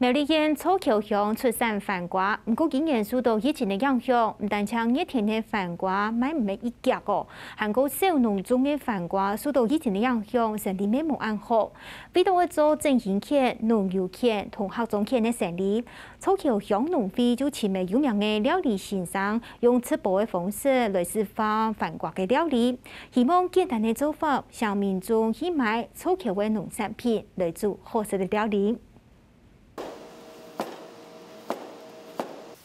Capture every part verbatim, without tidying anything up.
苗栗縣草橋鄉出產番瓜，毋過今年受到疫情个影響，毋單淨熱天个番瓜賣毋係一遽哦，還過小農種个番瓜受到疫情个影響，生理乜無恁好。為著愛做振興圈、農遊圈同客庄圈个生理，草橋鄉農會就尋了有名个料理先生，用直播个方式來示範番瓜个料理，希望簡單个做法，請民眾去買草橋个農產品來煮好食个料理。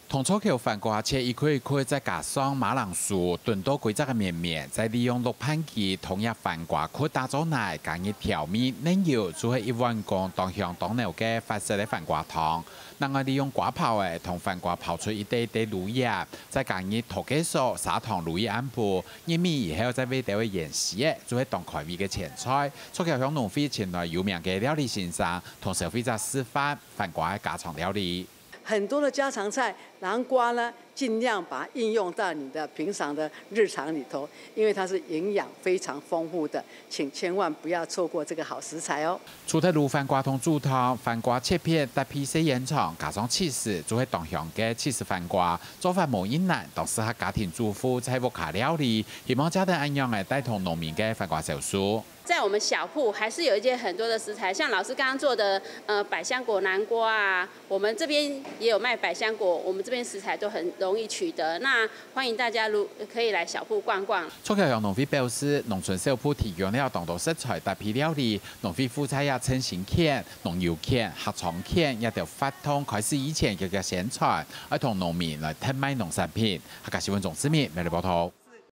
同草橋番瓜切一塊一塊，再加上馬鈴薯，燉到歸隻个綿綿，再利用熝拌機同這番瓜殼打做泥，加入調味、奶油，就係一碗公當香當濃个法式个番瓜湯。另外利用瓜泡仔同番瓜泡出一垤一垤滷液，再加入桃雞酥、砂糖滷一暗晡，入味以後再煨兜仔芫荽仔，就係當開胃个前菜。草橋鄉農會尋來有名个料理先生，同消費者示範番瓜个家常料理。 很多的家常菜，南瓜呢，尽量把它应用到你的平常的日常里头，因为它是营养非常丰富的，请千万不要错过这个好食材哦。除忒滷番瓜同煮湯，番瓜切片搭配細煙腸，加上起司，就係當香个起司番瓜。做法無恁難，當適合家庭主婦在屋下料理。希望借等恁樣仔帶動農民个番瓜銷售。 在我们小铺还是有一些很多的食材，像老师刚刚做的呃百香果南瓜啊，我们这边也有卖百香果，我们这边食材都很容易取得。那欢迎大家如可以来小铺逛逛。草橋鄉農會表示，農村小鋪提供了當多食材搭配料理，農會負責也振興圈、農遊圈、客庄圈這兜活動開始以前个个宣傳，愛同農民來特賣農產品。客家新聞鍾志明，苗栗報導。